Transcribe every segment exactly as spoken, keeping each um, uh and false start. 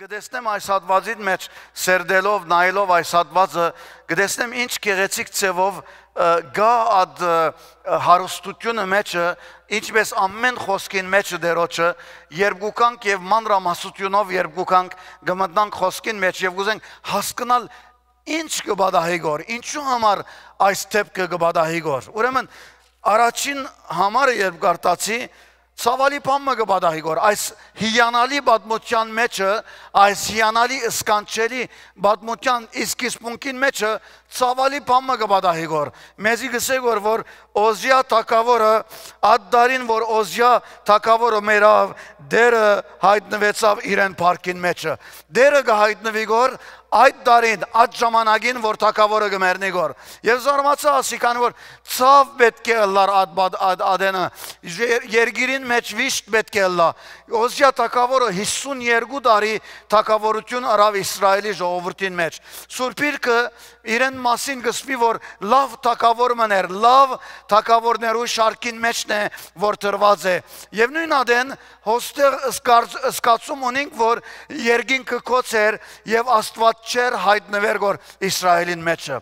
Կը տեսնեմ այս հատուածին մէջ, սերտելով, նայելով այս հատուածը, կը տեսնեմ ինչ գեղեցիկ ձևով, ը, կայ այդ, ը, հարստութիւնը մեջը, ինչպէս ամէն խօսքին մեջը Տէրոջը, երբ կու գանք եւ մանրամասնութիւնով երբ կու գանք, կը մտնանք խօսքին մէջ եւ կ'ուզենք հասկնալ ինչ կը պատահի գոր, ինչու համար այս դէպքը կը պատահի գոր։ Ուրեմն, առաջին համարը երբ կարդացի, ցաւալի բան մը կը պատահի գոր։ Այս հիանալի պատմութեան մեջը, այս հիանալի սքանչելի պատմութեան սկիզբունքին մեջը ցաւալի բան մը կը պատահի գոր։ Մեզի կ'ըսէ գոր, որ Օզիա թագաւորը, այդ տարին, որ Օզիա թագաւորը մեռաւ, Տէրը յայտնուեցաւ իրեն փառքին մեջը։ Տէրը կը յայտնուի գոր այդ տարին, այդ ժամանակին, որ թագաւորը կը մեռնի գոր։ Եւ զարմացայ ասի, քանի որ ցաւ պէտք է ըլլար այդ, այդ, այդ, ատենը, եր-, երկիրին մէջ վիշտ պէտք է ըլլայ։ Օզիա թագաւորը յիսուն երկու տարի թագաւորութիւն ըրաւ Իսրայէլի ժողովուրդին մէջ։ Սուրբ Իրքը իրեն մասին կը սպի, որ լաւ թագաւոր մըն էր, լաւ թագաւորներու շարքին մէջն է, որ տրուած է։ Եւ նոյն ատեն հոստեղ զգարծ-, զգացում ունինք, որ երկինքը կոց էր եւ Աստուած չէր յայտնուեր գոր Իսրայէլին մեջը։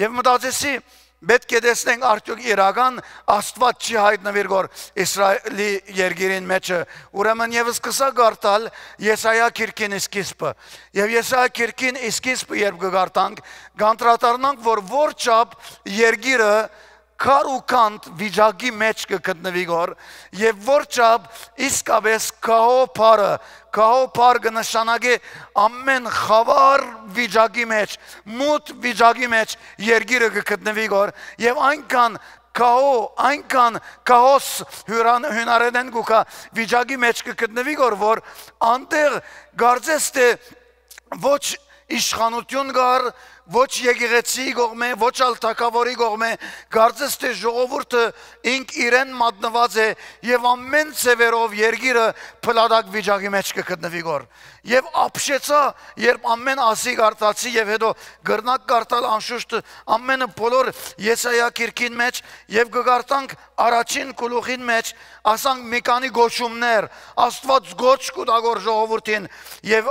Եւ մտածեցի, պէտք է տեսնենք արդեօք իրական Աստուած չի յայտնուիր գոր Իսրայէլի երկիրին մեջը։ Ուրեմն եւս սկսա կարդալ Եսայա գիրքին սկիզբը։ Եւ Եսայա գիրքին սկիզբը երբ կը կարդանք, կանդրադառնանք, որ որչափ երկիրը քար ու քանդ վիճակի մէջ կը գտնուի գոր, եւ որչափ իսկապէս քահո բառը, քահո բառ կը նշանակէ ամէն խաւար վիճակի մէջ, մութ վիճակի մէջ երկիրը կը գտնուի գոր, եւ այնքան քահո, այնքան քահոս հիւրան-, հիւնարէնէն կու գայ վիճակի մէջ կը գտնուի գոր, որ անտեղ կարծես թէ ոչ իշխանութիւն կար, ոչ եկեղեցիի կողմէ, ոչ ալ թագաւորի կողմէ, կարծես թէ ժողովուրդը ինք իրեն մատնուած է եւ ամէն ձեւերով երկիրը փլատակ վիճակի մէջ կը գտնուի գոր։ Եւ ապշեցայ, երբ ամէն ասի կարդացի եւ հետո կրնակ կարդալ անշուշտ ամէնը բոլոր Եսայա գիրքին մէջ եւ կը կարդանք առաջին գլուխին մէջ, ասանք մի քանի կոչումներ, Աստուած կոչ կու տայ գոր ժողովուրդին եւ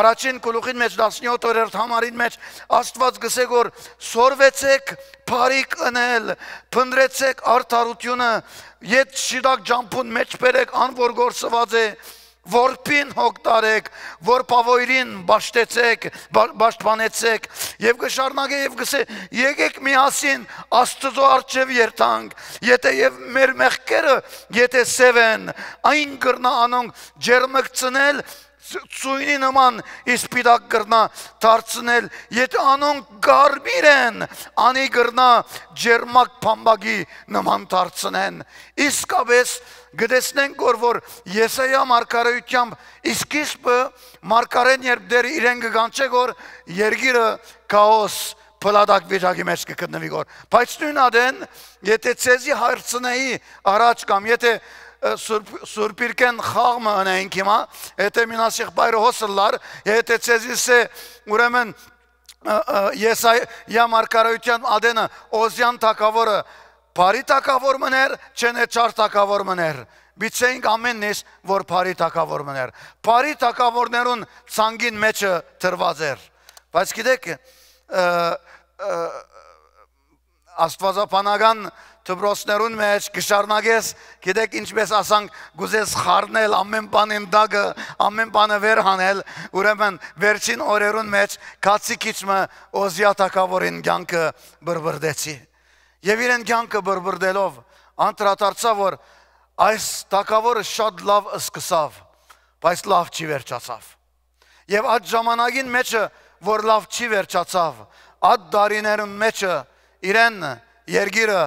առաջին գլուխին մէջ, տասնեօթերորդ համարին մէջ, Աստուած կ'ըսէ գոր, սորվեցեք բարիք ընել, փնտռեցեք արդարութիւնը, ետ շիտակ ճամբուն մէջ բերեք ան որ կորսուած է, որբին հոգ տարեք, որբաւոյրին պաշտեցեք, պա-, պաշտպանեցեք, եւ կը շարունակէ եւ կ'ըսէ. «Եկեք միասին Աստուծոյ առջեւ երթանք, եթէ եւ մեր մեղքերը, եթէ սեւ են, այն կրնայ անոնք ջերմկցնել, ց-, ծոյնի նման սպիտակ կրնայ դարձնել, եթէ անոնք կարմիր են, անի կրնայ ջերմակ բամբակի նման դարձնեն»։ Իսկապէս կը տեսնենք գոր, որ Եսայա մարգարէութեամբ սկիզբը մարգարէն երբ դեռ իրեն կը կանչէ գոր, երկիրը քաոս, փլատակ վիճակի մէջ կը գտնուի գոր։ Բայց նոյն ատեն, եթէ ձեզի հարցնեի առաջ կամ եթէ, ը, Սուրբ, Սուրբ Իրկէն խաղ մը ընենք հիմա, եթէ մինասիղբայրը հոս ըլլար, եթէ ձեզի սէ, ուրեմն, ը, ը, Եսայա մարգարէութեան ատենը, Օզեան թագաւորը բարի թագաւոր մըն էր, չեն է չար թագաւոր մըն էր։ Բիցեինք ամեննիս, որ բարի թագաւոր մըն էր։ Բարի թագաւորներուն ցանկին մեջը դրուած էր։ Բայց գիտեք, ը, ը, աստուածաբանական դպրոցներուն մէջ կը շարունակես, գիտեք, ինչպես ասանք, կ'ուզես խառնել, ամեն բան ընդակը, ամեն բանը վեր հանել, ուրեմն վերջին օրերուն մէջ քացի քիչ մը Օզիա թագաւորին կյանքը բրբրդեցի։ Եւ իրեն կյանքը բրբրդելով, անդրադարձա, որ այս թագաւորը շատ լաւ սկսաւ, բայց լաւ չի վերջացաւ։ Եւ այդ ժամանակին մեջը, որ լաւ չի վերջացաւ, այդ տարիներուն մեջը իրեն երկիրը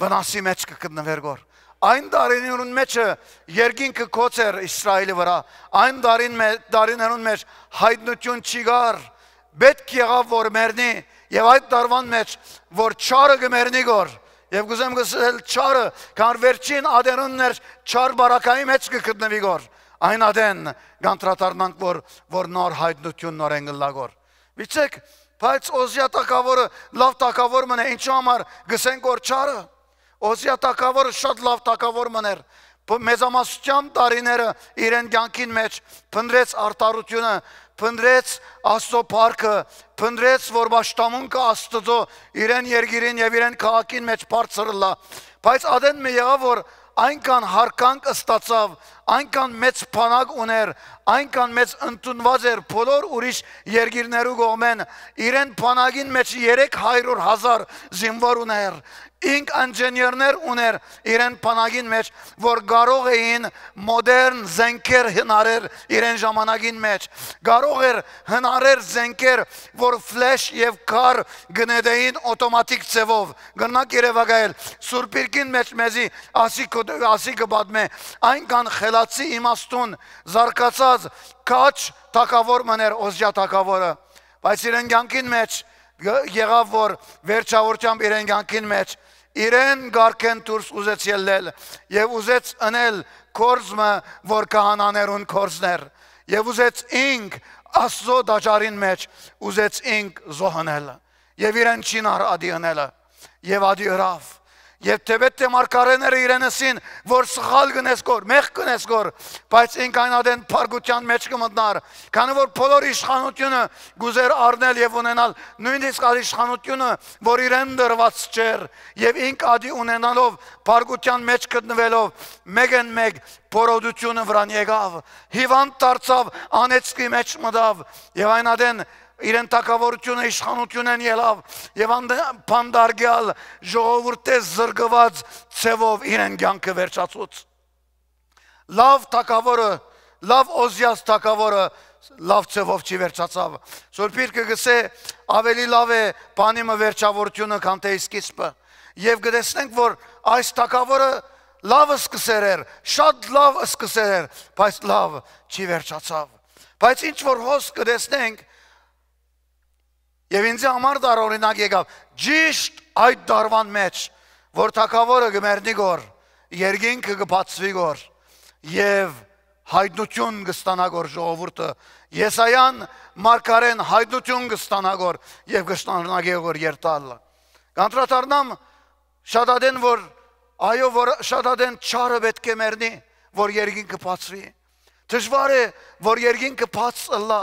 վնասի մէջ կը գտնուէր գոր։ Այն տարիներուն մեջը երկինքը կոց էր Իսրայէլի վրայ, այն տարին մէ-, տարիներուն մէջ հայտնութիւն չի գար, պէտք եղաւ որ մեռնի, եւ այդ տարուան մէջ որ չարը կը մեռնի գոր, եւ կ'ուզեմ կ'ըսել չարը, քան վերջին ատենուն ներ չար բարակայի մէջ կը գտնուի գոր, այն ատեն կանդրադառնանք, որ, որ նոր հայտնութիւն նորէն կ'ըլլայ գոր։ Միցեք, բայց Օզիա թագաւորը լաւ թագաւոր մըն է, ինչու համար կ'ըսենք որ չարը։ Օզիա թագաւորը շատ լաւ թագաւոր մըն էր, Բ-, մեծամասնութեան տարիները իրեն կեանքին մէջ փնտռեց արդարութիւնը, փնտռեց Աստուծոյ փառքը, փնտռեց, որ պաշտամունքը Աստուծոյ իրեն երկիրին եւ իրեն քաղաքին մէջ բարձր ըլլայ։ Բայց ատեն մը եղաւ, որ այնքան յարգանք ստացաւ, այնքան մեծ բանակ ունէր, այնքան մեծ ընդունուած էր բոլոր ուրիշ երկիրներու կողմէն, իրեն բանակին մէջ երեք հարիւր հազար զինուոր ունէր, ինք ինժեներներ ունէր իրեն բանակին մէջ, որ կարող էին մոդեռն զենքեր հնարել իրեն ժամանակին մէջ, կարող էր հնարել զենքեր, որ ֆլեշ եւ քար կը նետէին օտոմատիկ ձեւով։ Կրնաք երեւակայել, Սուրբ Իրկին մէջ մեզի ասի կը, ասի կը պատմէ, այնքան խելացի, իմաստուն, զարգացած քաջ թագաւոր մըն էր Օզիա թագաւորը, բայց իրեն կեանքին մէջ գ-, եղաւ, որ վերջավորությամբ իրեն կեանքին մէջ իրեն կարգէն դուրս ուզեց ելլել եւ ուզեց ընել գործ մը, որ քահանաներուն գործն էր, եւ ուզեց ինք Աստուծոյ տաճարին մէջ, ուզեց ինք զոհ ընել, եւ իրեն չի նար ատի ընելը, եւ ատի ըրաւ։ Եւ թէպէտ թէ մարգարէները իրեն ըսին, որ սխալ կ'ընես գոր, մեղք կ'ընես գոր, բայց ինք այն ատեն փառքութեան մէջ կը մտնար, քանի որ բոլոր իշխանութիւնը կ'ուզէր առնել եւ ունենալ, նոյնիսկ այդ իշխանութիւնը, որ իրեն տրուած չէր, եւ ինք ատի ունենալով, փառքութեան մէջ գտնուելով, մէկէն մէկ բորոտութիւնը վրան եկաւ, հիւանդ դարձաւ, անեծքի մէջ մտաւ, եւ այն ատեն իրեն թագաւորութիւնը իշխանութիւնէն ելաւ, եւ ան-, բանտարկեալ ժողովուրդէ զրկուած ձեւով իրեն կեանքը վերջացուց։ Լաւ թագաւորը, լաւ Օզիաս թագաւորը լաւ ձեւով չի վերջացաւ։ Սուրբ Իրքը կ'ըսէ, ավելի լաւ է բանի մը վերջավորութիւնը, քան թէ սկիզբը։ Եւ կը տեսնենք, որ այս թագաւորը լաւ սկսեր էր, շատ լաւ սկսեր էր, բայց լաւ չի վերջացաւ։ Բայց ինչ որ հոս կը տեսնենք, եւ ինձի համար դար օրինակ եկաւ, ճիշտ այդ դարուան մէջ, որ թագաւորը կը մեռնի գոր, երկինքը կը բացուի գոր, եւ յայտնութիւն կը ստանայ գոր ժողովուրդը, Եսայան մարգարէն յայտնութիւն կը ստանայ գոր եւ կը շարունակէ գոր երթալ։ Կանդրադառնամ շատ ատեն, որ, այո, որ շատ ատեն չարը պէտք է մեռնի, որ երկինքը բացուի։ Դժուար է, որ երկինքը բաց ըլլայ,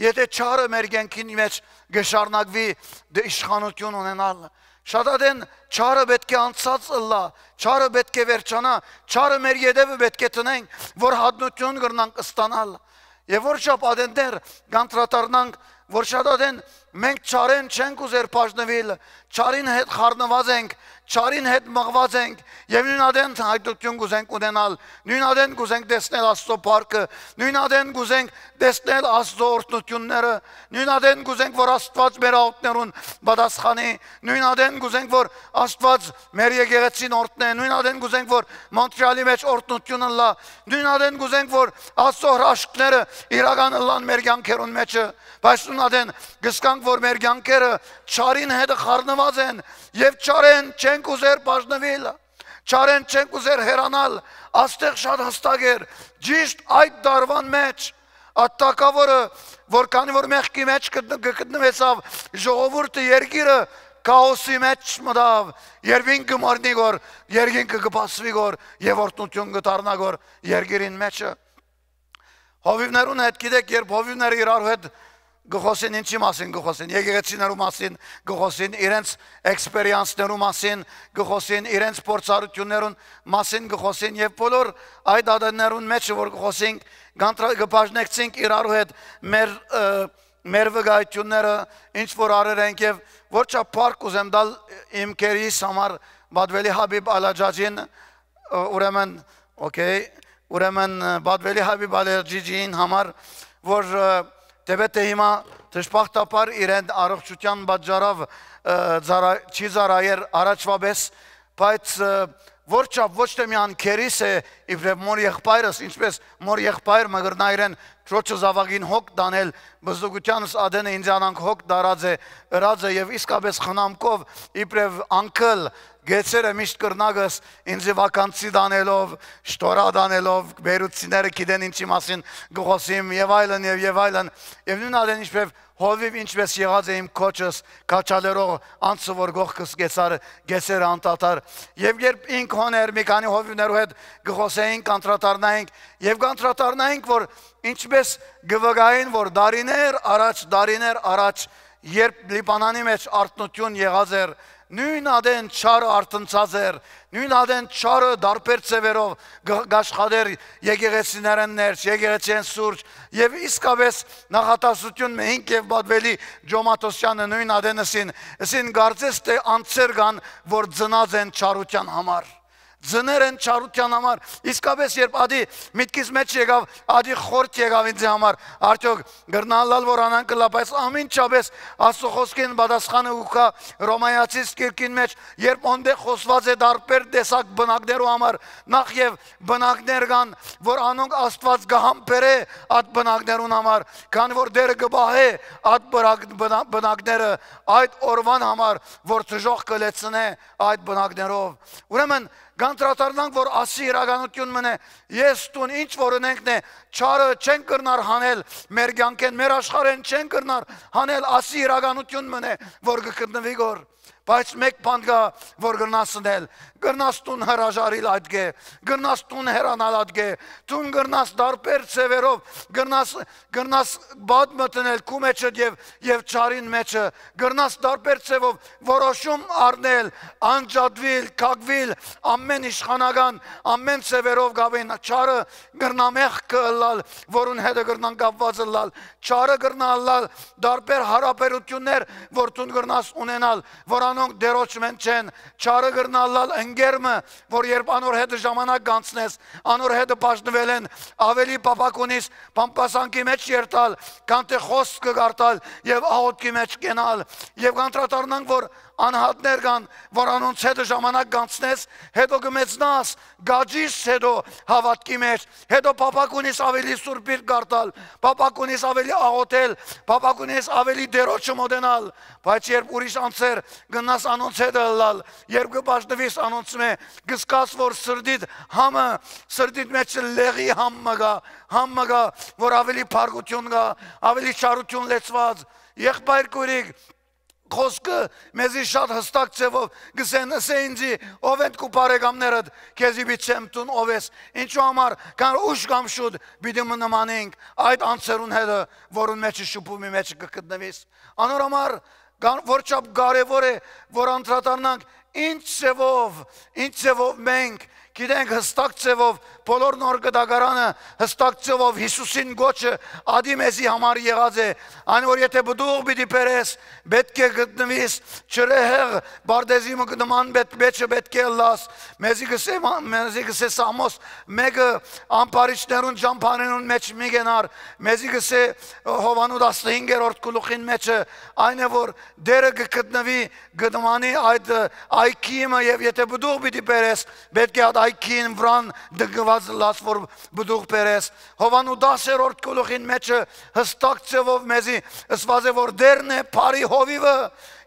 եթէ չարը մեր կեանքին մէջ կը շարունակուի դե իշխանութիւն ունենալ։ Շատ ատեն չարը պէտք է անցած ըլլայ, չարը պէտք է վերջանայ, չարը մեր ետեւը պէտք է տնենք, որ յայտնութիւն կրնանք ստանալ։ Եւ որչափ ատեններ կանդրադառնանք, որ շատ ատեն մենք չարէն չենք ուզեր բաժնուիլ, չարին հետ խառնուած ենք, չարին հետ մղուած ենք, եւ նոյն ատեն յայտնութիւն կ'ուզենք ունենալ, նոյն ատեն կ'ուզենք տեսնել Աստուծոյ փառքը, նոյն ատեն կ'ուզենք տեսնել Աստուծոյ օրհնութիւնները, նոյն ատեն կ'ուզենք, որ Աստուած մեր աղօթքներուն պատասխանի, նոյն ատեն կ'ուզենք, որ Աստուած մեր եկեղեցին օրհնէ, նոյն ատեն կ'ուզենք, որ Մոնտրեալի մէջ օրհնութիւն ըլլայ, նոյն ատեն կ'ուզենք, որ Աստուծոյ հրաշքները իրական ըլլան մեր կեանքերուն մէջը, բայց նոյն ատեն կ'զգանք, որ մեր կեանքերը չարին հետ խառնուած են եւ չարէն չենք ուզեր բաժնուիլ, չարէն չենք ուզեր հեռանալ, աստեղ շատ հստակ էր, ճիշտ այդ դարուան մէջ, այդ թագաւորը, որ քանի որ մեղքի մէջ գտնուեցաւ, ժողովուրդը, երկիրը քաոսի մէջ մտաւ, երբ ինքը մեռնի գոր, երկինքը կը բացուի գոր եւ օրհնութիւն կը դառնայ գոր երկիրին մէջը։ Հովիւներուն հետ, գիտեք, երբ հովիւները իրարու հետ կը խօսին, ինչի՞ մասին կը խօսին, եկեղեցիներու մասին կը խօսին, իրենց էքսպերիանսներու մասին կը խօսին, իրենց փորձառութիւններուն մասին կը խօսին եւ բոլոր այդ ատեններուն մէջը որ կը խօսինք, կանդրա-, կը բաժնեկցինք իրարու հետ մեր, ը, մեր վկայությունները, ինչ որ արեր ենք եւ որչափ փառք կ'ուզեմ տալ իմ քերիս համար, Բադվելի Հաբիբ Ալաջաջին, ը, ուրեմն, օքեյ, ուրեմն, ը, Բադվելի Հաբիբ Ալաջաջին համար, որ, ը, թէպէտ թէ հիմա դժբախտաբար իրեն առողջութեան պատճառով, ը, ծառա-, չի ծառայեր առաջվա պես, բայց, ը, որչափ ոչ թէ միան քերիս է, իբրեւ մոր եղբայրս, ինչպես մոր եղբայր մը կրնայ իրեն քրոջը զաւակին հոգ տանել, բզդուկութեանս ատենը ինձանանք հոգ տարած է, ըրած է եւ իսկապես խնամքով իբրեւ անկլ Գեցերը միշտ կրնակս ինձի վականցի տանելով, շտորա տանելով, բերուցիները գիտեն ինչի մասին կը խօսիմ, եւ այլն, եւ, եւ այլն։ Եւ նոյն ատեն ինչպէս հովիւ, ինչպէս եղած է իմ քոչս, քաչալերող անցը, որ կողքս գեցար, գեցերը անդադար։ Եւ երբ ինք հոն էր, մի քանի հովիւներու հետ կը խօսէինք, կանդրադառնայինք, եւ կանդրադառնայինք, որ ինչպէս կը վկային, որ դարիներ առաջ, դարիներ առաջ, երբ Լիբանանի մեջ արթնություն եղած էր, նոյն ատեն չարը արթնցած էր, նոյն ատեն չարը դարբեր ձեւերով գ-, գաշխատեր եկեղեցիներէն ներս, եկեղեցիէն սուրճ, եւ իսկապէս նախատասություն մը հինգ եւ պատվելի Ջոմաթոսյանը նոյն ատեն ըսին, ըսին, կարծես թէ անձեր կան, որ ծնած են չարութեան համար։ Ծներ են չարութեան համար։ Իսկապէս երբ ադի միտքիս մեջ եկաւ, ադի խորթ եկաւ ինձի համար, արդյոք կրնալալ որ անանք ըլլայ, բայց ամինչապէս Աստուծոյ խօսքին պատասխանը կու գայ Ռոմայացիս գիրքին մեջ, երբ ոնտեղ խօսուած է դարբեր տեսակ բնակներու համար, նախ եւ բնակներ կան, որ անոնք Աստուած կը համբերէ այդ բնակներուն համար, քանի որ Տէրը կը պահէ այդ բրակ-, բնա-, բնակները այդ օրուան համար, որ դժոխքը լեցնէ այդ բնակներով։ Ուրեմն, կանդրադառնանք, որ ասի իրականություն մնէ, ես դուն ինչ որ ընենք նե, չարը չեն կրնար հանել մեր կյանքէն, մեր աշխարհէն չեն կրնար հանել, ասի իրականություն մնէ, որ կը գտնուի գոր։ Բայց մէկ բան կայ, որ կրնաս ընել, կրնաս դուն հրաժարիլ այդ գէ, կրնաս դուն հեռանալ այդ գէ, դուն կրնաս դարբեր ձևերով, կրնաս, կրնաս բադ մտնել քու մեջդ եւ, եւ չարին մեջը, կրնաս դարբեր ձևով որոշում առնել, անջատուիլ, քակուիլ, ամեն իշխանական, ամեն ձևերով գաբին չարը կրնա մեղքը ըլլալ, որուն հետը կրնան կապված ըլլալ, չարը կրնա ըլլալ դարբեր հարաբերություններ, որ դուն կրնաս ունենալ, որ անոնք Տէրոջ մէն չեն, չարը կրնա ըլլալ ընկեր մը, որ երբ անոր հետը ժամանակ կանցնես, անոր հետը բաժնուելէն աւելի փափաք ունիս բամբասանքի մեջ երթալ, քան թէ խօսքը կարդալ եւ աղօթքի մեջ կենալ, եւ կանդրադառնանք, որ անհատներ կան, որ անոնց հետը ժամանակ կանցնես, հետո կը մեծնաս, գաճիս հետո հաւատքի մեջ, հետո փափաք ունիս աւելի սուրբիլ կարդալ, փափաք ունիս աւելի աղօթել, փափաք ունիս աւելի Տէրոջը մոտենալ, բայց երբ ուրիշ անձեր գնաս անոնց հետը ըլլալ, երբ կը բաժնուիս անոնցմէ, կը զգաս, որ սրտիդ համը, սրտիդ մեջ լեղի համ մը գայ, համ մը գայ, որ աւելի փառկություն գայ, աւելի չարություն լեցուած։ Եղբայր քուրիկ, խօսքը մեզի շատ յստակ ձևով կ'ըսեն, ըսէ ինձի, ո՞վ են քու բարեկամներդ, քեզի պիտի չեմ դուն ով ես, ինչու համար, քան ուշ կամ շուտ պիտի մը նմանենք այդ անձերուն հետը, որուն մեջը շփումի մեջ կը գտնուիս։ Անոր համար կան, որ չափ կարեւոր է, որ անդրադառնանք, ինչ ձևով, ինչ ձևով մենք գիտենք, յստակ ձևով, բոլոր նոր կտակարանը յստակ ձևով Յիսուսին կոչը ադի մեզի համար եղած է, այն որ եթե պտուղ պիտի բերես, պէտք է գտնուիս, չրեհեղ պարտեզի մը նման պէտ-, մեջը պէտք է ըլլաս, մեզի կսե, մա-, մեզի կսե Սամոս մէկը, ամբարիչներուն ճամբաներուն մեջ մի գենար, մեզի կսե Հովանու տասնհինգերորդ գլուխին մեջը, այն է որ Տէրը կգտնուի, կդմանի այդ, ը, այգի մը, եւ եթե պտուղ պիտի բերես, պէտք է այդ այգին վրան դգնուած ըլլաս, որ պտուղ բերես։ Հովանու տասերորդ գլուխին մեջը յստակ ձևով մեզի ըսուած է, որ Տէրն է բարի հովիվը,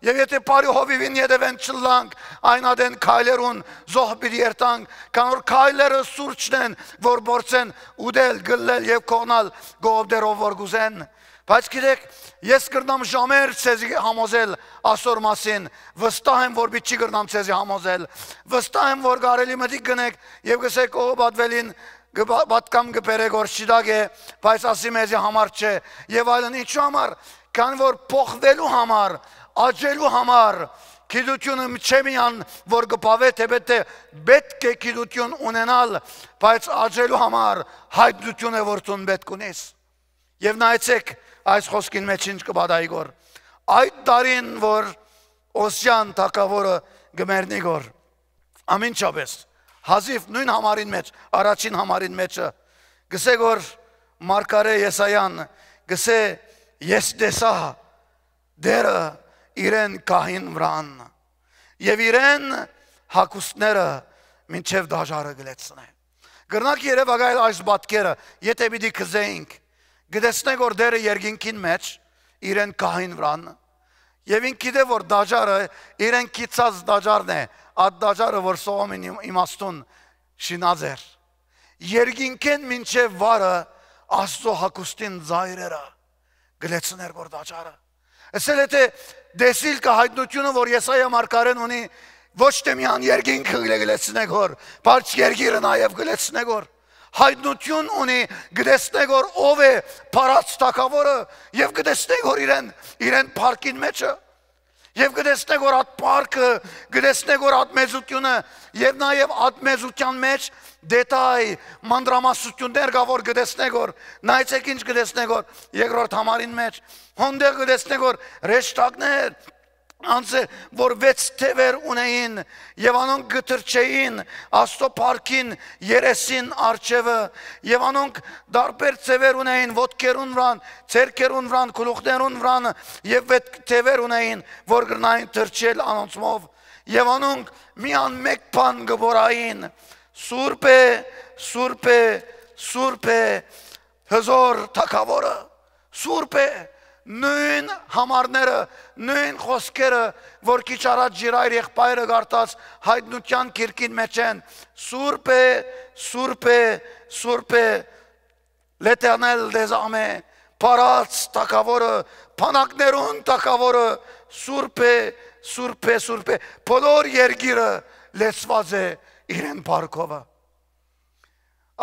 եւ եթե բարի հովիվին ետեւէն չլանք, այն ատեն քայլերուն զոհ պիտի երթանք, քան որ քայլերը սուրճն են, որ փորձեն ուտել, գլլել եւ կողնալ կողոպտերով որ կուզեն։ Բայց գիտեք, ես կրնամ ժամեր ձեզի համոզել ասոր մասին, վստահ եմ, որ պիտի չի կրնամ ձեզի համոզել, վստահ եմ, որ կարելի մտիկ գնեք եւ գսեք, ո, պատվելին կը-, պատկամ կը բերեք, որ շիտակ է, բայց ասի մեզի համար չէ, եւ այլն, ինչու համար, քան որ փոխվելու համար, աճելու համար, գիտությունը չէ միան, որ կը բավե, թեպետ թէ պէտք է գիտություն ունենալ, բայց աճելու համար հայտնություն է, որ դուն պէտք ունես։ Եվ նայեցեք այս խոսքին մեջ ինչ կը պատահի գոր։ Այդ տարին, որ Օսիան թագաւորը կը մեռնի գոր, ամինչապէս, հազիվ նոյն համարին մեջ, առաջին համարին մեջը, գսե գոր մարգարէ Եսայան, գսե, «Ես տեսայ Տէրը իրեն գահին վրան, եւ իրեն հագուստները մինչեւ դաժարը կը լեցնէ»։ Կրնաք երեւակայել այս պատկերը, եթե պիտի գզեինք, կտեսնենք, որ Տէրը երկինքին մեջ իրեն գահին վրան, Եւ ինք գիտէ որ տաճարը իրեն գիծած տաճարն է, այդ տաճարը որ Սողոմին իմ-, իմաստուն շինած էր։ Երկինքէն մինչեւ վարը Աստծո հագուստին ծայրերը գլեցներ որ տաճարը։ Ասել է թէ դեսիլ կը հայտնությունը որ Եսայա մարգարեն ունի, ոչ թէ միան երկինքը գլեցնեք որ, բայց երկիրը նաեւ գլեցնեք որ հայտնություն ունի, գտեսնեք որ ով է փառած թագաւորը, եւ գտեսնեք որ իրեն, իրեն փառքին մեջը, եւ գտեսնեք որ այդ փառքը, գտեսնեք որ այդ մեծությունը, եւ նաեւ այդ մեծության մեջ դետայ, մանրամասնություններ կա որ գտեսնեք որ, նայեցեք ինչ գտեսնեք որ երկրորդ համարին մեջ, հոնդեղ գտեսնեք որ հրեշտակներ, անձը որ վեց թեւեր ունեին, եւ անոնք կը թռչէին Աստծո փառքին երեսին առջեւը, եւ անոնք տարբեր ձեւեր ունեին ոտքերուն վրան, ձեռքերուն վրան, գլուխներուն վրան, եւ վեց թեւեր ունեին որ կրնային թռչել անոնցմով, եւ անոնք միան մէկ բան կը բորային. «Սուրբ է, սուրբ է, սուրբ է հզոր թագաւորը»։ Սուրբ է, նոյն համարները, նոյն խօսքերը որ քիչ առաջ Ժիրայր եղբայրը կարդաց հայտնության գիրքին մեջ են. «Սուրբ է, սուրբ է, սուրբ է, L'Éternel des armées, փառաց թագաւորը, բանակներուն թագաւորը, սուրբ է, սուրբ է, սուրբ է»։ Բոլոր երկիրը լեցուած է իրեն փառքովը։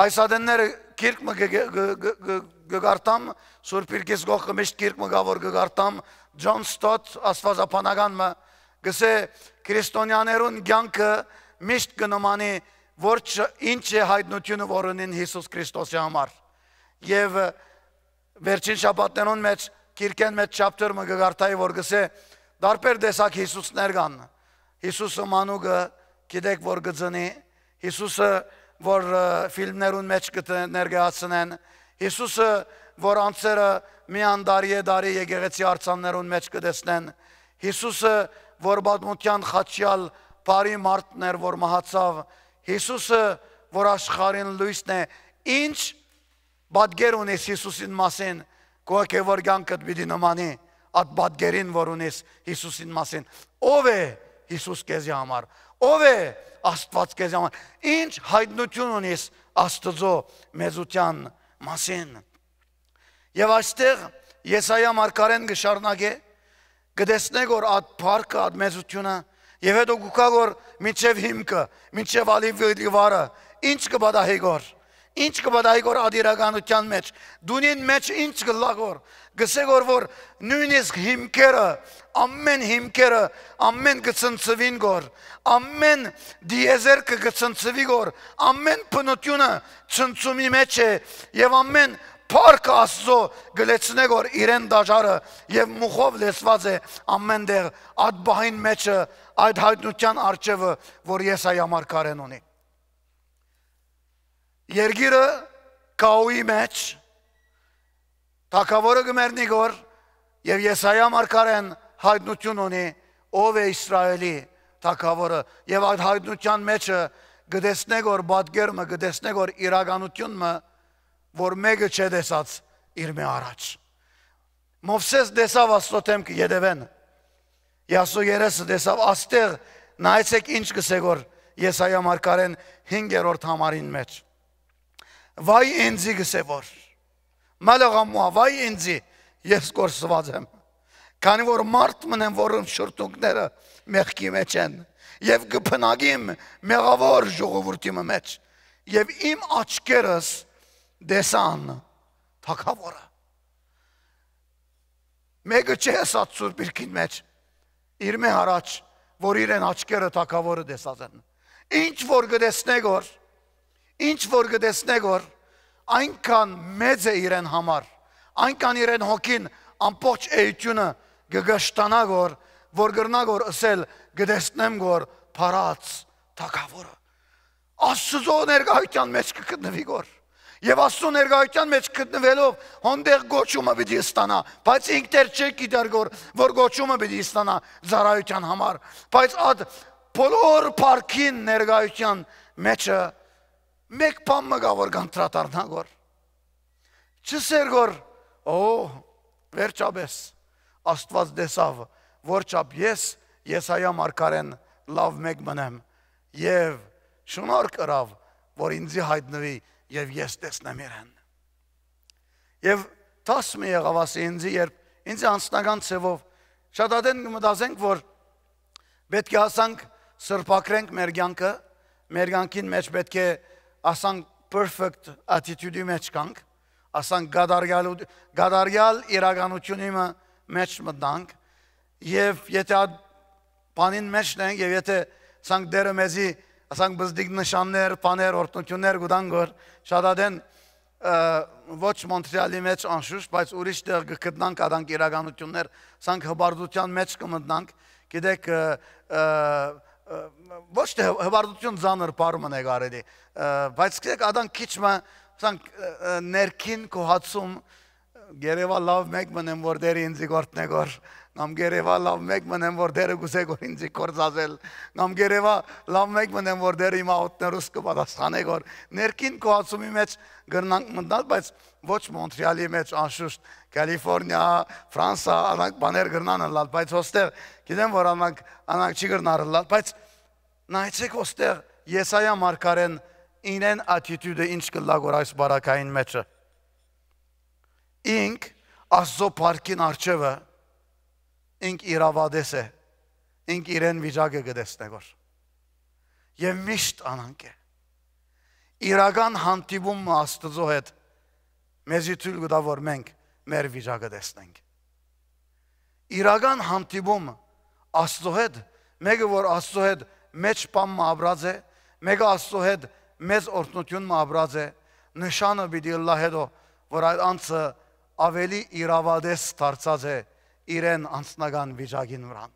Այս ատենները գիրք մը կը, կը, կը, կը, կը, կը կարդամ, Սուրբ Իրկիս կողքը միշտ գիրք մը կա որ կը կարդամ, Ջոն Սթոթ, աստվածաբանական մը, կսէ. քրիստոնյաներուն կյանքը միշտ կը նմանի որ չ-, ինչ է հայտնությունը որ ունին Յիսուս Քրիստոսի համար։ Եւ վերջին շաբաթներուն մեջ գիրքեն մեջ chapter մը կը կարդայի որ կսէ. տարբեր տեսակ Յիսուսներ կան։ Յիսուսը մանուկը գիտեք որ կը ծնի, Յիսուսը որ, ը, ֆիլմներուն մեջ կը տ-, ներկայացնեն, Յիսուսը որ անձերը միան տարի է տարի եկեղեցի արձաններուն մեջ կը տեսնեն, Յիսուսը որ պատմության խաչյալ բարի մարդն էր որ մահացաւ, Յիսուսը որ աշխարհին լոյսն է, ինչ պատկեր ունիս Յիսուսին մասին, քո հոգեոր կյանքդ պիտի նմանի այդ պատկերին որ ունիս Յիսուսին մասին։ Ո՞վ է Յիսուս քեզի համար, ո՞վ է Աստուած քեզի համար, ինչ հայտնություն ունիս Աստուծոյ մեծութեան մասին։ Եւ այստեղ Եսայա մարգարեն կը շարունակէ, կը տեսնենք որ այդ փառքը, այդ մեծությունը, եւ հետո կու գայ որ մինչեւ հիմքը, մինչեւ ալիվի վարը, ինչ կը պատահի գոր, ինչ կը պատահի գոր այդ իրականության մեջ, դունին մեջ ինչ կը լա գոր, կսե գոր որ նոյնիսկ հիմքերը, ամեն հիմքերը, ամեն կը ցնցուին գոր, ամեն դիեզերքը կը ցնցուի գոր, ամեն բնությունը ցնցումի մեջ է, եւ ամեն փառքը Աստծո կը լեցնէ գոր իրեն դաժարը, եւ մուխով լեցուած է ամեն տեղ, այդ բահին մեջը, այդ հայտնության առջեւը որ Եսայա մարգարեն ունի։ Երկիրը կաուի մեջ, թագաւորը կը մեռնի գոր, եւ Եսայա մարգարեն հայտնություն ունի ով է Իսրայելի թագաւորը, եւ այդ հայտնության մեջը կը տեսնէ գոր պատկեր մը, կը տեսնէ գոր իրականություն մը, որ մէկը չէ տեսած իրմէ առաջ։ Մովսէս տեսաւ Աստծո դէմքը ետեւէն, Յասու երեսը տեսաւ, աստեղ նայեցեք ինչ կսե գոր Եսայա մարգարեն հինգերորդ համարին մեջ։ Վայ ինձի, կսե որ, մալաղամուա, վայ ինձի, ես կորսուած եմ, քանի որ մարդ մըն եմ որուն շրթունքները մեղքի մեջ են, եւ կը բնակիմ մեղաւոր ժողովուրդի մը մեջ, եւ իմ աչքերս տեսան թագաւորը։ Մէկը չէ ըսած Սուրբ Իրքին մեջ, իրմէ առաջ, որ իրեն աչքերը թագաւորը տեսած են։ Ինչ որ կը տեսնէ գոր, ինչ որ կը տեսնէ գոր, այնքան մեծ է իրեն համար, այնքան իրեն հոգին ամբողջ էությունը կը կշտանայ գոր, որ կրնայ գոր ըսել. «Կը տեսնեմ գոր փառաց թագաւորը»։ Աստուծոյ ներկայութեան մեջ կը գտնուի գոր։ Եւ Աստուծոյ ներկայութեան մեջ գտնուելով հոնդեղ կոչումը պիտի ստանայ, բայց ինք դեռ չէ գիտեր գոր, որ կոչումը պիտի ստանայ ծառայութեան համար, բայց այդ բոլոր փառքին ներկայութեան մեջը մէկ բան մը կայ որ կանդրադառնայ գոր։ Չսեր գոր, օ, վերջապէս Աստուած տեսաւ որչափ ես Եսայա մարգարէն լաւ մէկ մըն եմ, եւ շնորհք ըրաւ, որ ինծի յայտնուի եւ ես տեսնեմ իրեն։ Եւ դաս մը եղաւ, ասի, ինծի, երբ ինծի անձնական ձեւով շատ ատեն կը մտածենք, որ պէտք է ասանք սրբագրենք մեր կեանքը, մեր կեանքին մէջ պէտք է ասանք perfect attitude-ի մէջ գանք, ասանք կատարյալ, կատարյալ իրականութիւնի մը մէջ մտնանք, եւ եթե այդ բանին մէջն ենք, եւ եթե ասանք Տէրը մեզի, ասանք բզդիկ նշաններ, բաներ, օրհնութիւններ կու տան, որ շատ ատեն, ը, ոչ Մոնտրեալի մէջ անշուշտ, բայց ուրիշ տեղ կը գտնանք, ադանք իրականութիւններ, ասանք հպարտության մէջ կը մտնանք, գիտեք, ը, ը, ը, ոչ թե հպ-, հպարտություն ծանր բառ մը է կարելի, ը, բայց գիտեք, ադանք քիչ մը, ասանք, ը, ը, ներքին գոհացում, գերեւա լաւ մէկ մըն եմ, որ Տէրը ինծի կ'օրհնէ գոր, կամ գերեւա լաւ մէկ մըն եմ, որ Տէրը կ'ուզէ գոր ինծի գործածել, կամ գերեւա լաւ մէկ մըն եմ, որ Տէրը իմ աղօթքներուս կը պատասխանէ գոր։ Ներքին գոհացումի մէջ կրնանք մտնալ, բայց ոչ Մոնտրեալի մէջ, անշուշտ, Կալիֆորնիա, Ֆրանսա, անանք բաներ կրնան ըլլալ, բայց հոստեղ գիտեմ, որ անանք, անանք չի կրնար ըլլալ, բայց նայեցեք հոստեղ Եսայա մարգարէն իրեն attitude-ը ինչ կ'ըլլայ գոր այս բարակային մէջը։ Ինք Աստծո փառքին առջեւը, ինք իրաւատես է, ինք իրեն վիճակը կը տեսնէ գոր։ Եւ միշտ անանք է։ Իրական հանդիպում մը Աստծո հետ մեզի թոյլ կու տայ, որ մենք մեր վիճակը տեսնենք։ Իրական հանդիպում Աստծո հետ, մէկը որ Աստծո հետ մէջ բան մը ապրած է, մէկը Աստծո հետ մեծ օրհնութիւն մը ապրած է, նշանը պիտի ըլլայ հետո, որ այդ անձը ավելի իրաւատես դարձած է իրեն անձնական վիճակին վրան։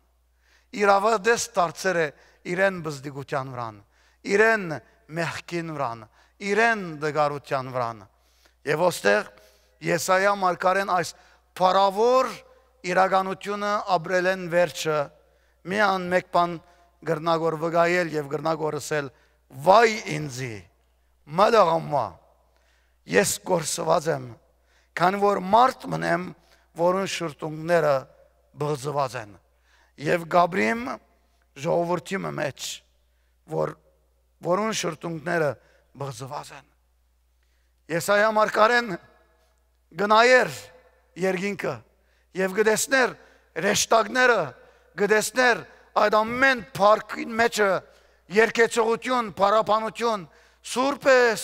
Իրաւատես դարձեր է իրեն բզդիկության վրան, իրեն մեղքին վրան, իրեն տկարության վրան։ Եւ ոստեղ Եսայա մարգարէն այս փառաւոր իրականութիւնը ապրելէն վերջը միան մէկ բան կրնայ որ վկայել եւ կրնայ որ ըսել. «Վայ ինձի, մը լղամուա, ես կորսուած եմ, քանի որ մարդ մըն եմ, որուն շրթունքները բղծուած են, եւ կապրիմ ժողովուրդի մը մէջ, որ, որուն շրթունքները բղծուած են»։ Եսայա մարգարէն կը նայէր երկինքը եւ կը տեսնէր հրեշտակները, կը տեսնէր այդ ամեն փառքին մէջը երգեցողութիւն, փառաբանութիւն. «Սուրբ ես,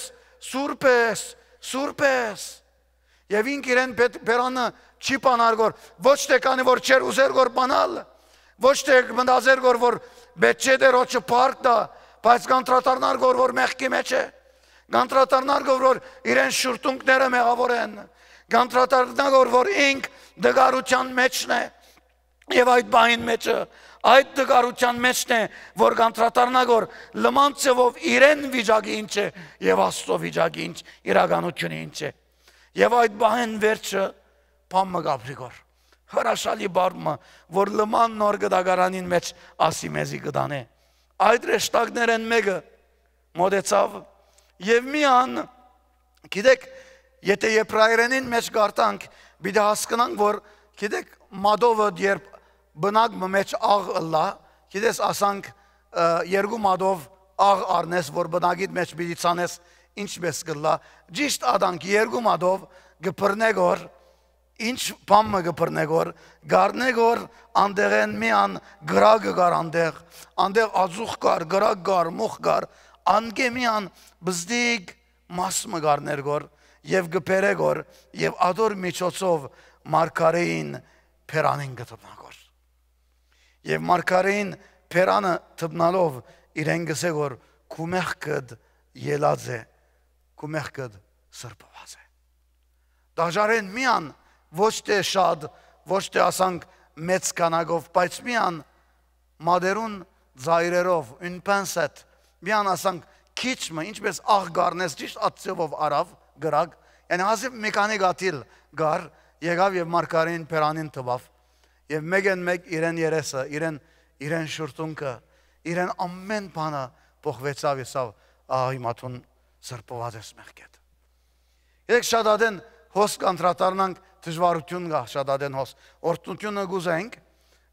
սուրբ ես, սուրբ ես»։ Եւ ինք իրեն բեթ-, բերանը չի բանար գոր, ոչ թէ քանի որ չէր ուզեր գոր բանալ, ոչ թէ մտածեր գոր որ պէտք չէ Տէրոջը փառք տայ, բայց կանդրադառնար գոր որ մեղքի մէջ է, կանդրադառնար գոր որ իրեն շուրթունքները մեղաւոր են, կանդրադառնար գոր որ ինք տկարութեան մէջն է, եւ այդ բանին մէջը, այդ տկարութեան մէջն է, որ կանդրադառնա գոր լման ձեւով իրեն վիճակը ինչ է եւ Աստծո վիճակը ինչ, իրականությունը ինչ է։ Եւ այդ բանին վերջը բան մը կապրի գոր, հրաշալի բառ մը, որ լման նոր գտակարանին մէջ ասի մեզի կտանէ։ Այդ հրեշտակներէն մէկը մոտեցաւ եւ միան, գիտեք, եթե եբրայերենին մէջ կարդանք, պիտի հասկնանք որ, գիտեք, մատովը երբ բնակ մը մէջ աղ ըլլայ, գիտես, ասանք, ը, երկու մատով աղ առնես որ բնակիդ մէջ պիտի ցանես, ինչպէս կ'ըլլայ։ Ճիշտ ադանք երկու մատով կը բռնէ գոր, ինչ բան մը կը բռնէ գոր, կ'առնէ գոր, անտեղէն միան կրակը կար անտեղ, անտեղ ածուխ կար, կրակ կար, մուխ կար, անկէ միան բզդիկ մաս մը կ'առնէր գոր եւ կը բերէ գոր, եւ ադոր միջոցով մարգարէին բերանին կը դպնայ գոր։ Եւ մարգարէին բերանը դպնալով իրեն կ'ըսէ գոր. «Քու մեղքդ ելած է, քու մեղքդ սրբուած է»։ Դաժարեն միան, ոչ թէ շատ, ոչ թէ ասանք մեծ քանակով, բայց միան մատերուն ծայրերով, une pincette, միան ասանք քիչ մը, ինչպես աղ կ'առնես, ճիշտ այդ ձևով առաւ կրակ, յանի հազիւ մի քանի կաթիլ կար, եկաւ եւ մարգարէին բերանին տուաւ, եւ մէկէն մէկ իրեն երեսը, իրեն, իրեն շուրթունքը, իրեն ամեն բանը փոխուեցաւ, ըսաւ. «Ահա հիմա դուն սրբուած ես մեղքէդ»։ Երեք շատ ատեն հոս կանդրադառնանք, դժվարութիւն կայ շատ ատեն հոս, օրհնութիւնը կ'ուզենք,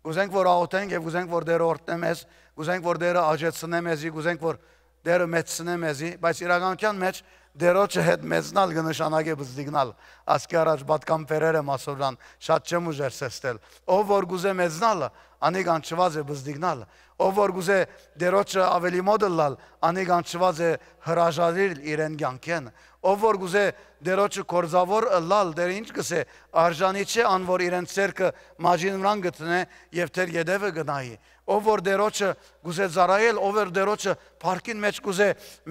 Կ'ուզենք որ աղօթենք եւ կ'ուզենք որ Տէրը օրհնէ մեզ, կ'ուզենք որ Տէրը աճեցնէ մեզի, կ'ուզենք որ Տէրը մեծցնէ մեզի, բայց իրականութեան մէջ Տէրոջը հետ մեծնալ կը նշանակէ բզդիգնալ։ Ասկի առաջ պատկան բերեր եմ ասորան, շատ չեմ ուժեր սեստել։ Ով որ կ'ուզէ մեծնալ, անիկա անջուած է բզդիգնալ։ Ով որ կ'ուզէ Տէրոջը ավելի մօտ ըլլալ, անիկա անջուած է հրաժարիլ իրեն կեանքէն։ Ով որ կ'ուզէ Տէրոջը գործաւոր ըլլալ, Տէրը ինչ կ'ըսէ, արժանի չէ ան որ իրեն ձեռքը մաճին վրան գտնէ եւ Տէր ետեւը գնայի։ Ով որ Տէրոջը կ'ուզէ ծառայել, ով որ Տէրոջը փառքին մէջ կ'ուզէ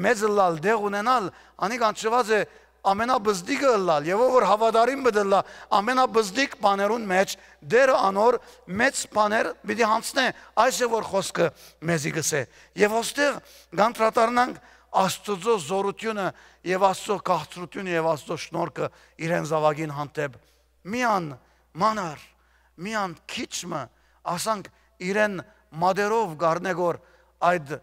մեծ ըլլալ, տեղ ունենալ, անիկա անջուած է ամենաբզդիկը ըլլալ, եւ ով որ հաւատարիմ պիտի ըլլայ ամենաբզդիկ բաներուն մէջ, Տէրը անոր մեծ բաներ պիտի յանցնէ, այս է որ խօսքը մեզի կ'ըսէ։ Եւ ոստեղ կանդրադառնանք Աստուծոյ զօրութիւնը եւ Աստուծոյ քաղցրութիւնը եւ Աստուծոյ շնորհքը իրեն զաւակին հանդէպ։ Միան մանր, միան քիչ մը, ասանք իրեն մատերով կ'առնէ գոր այդ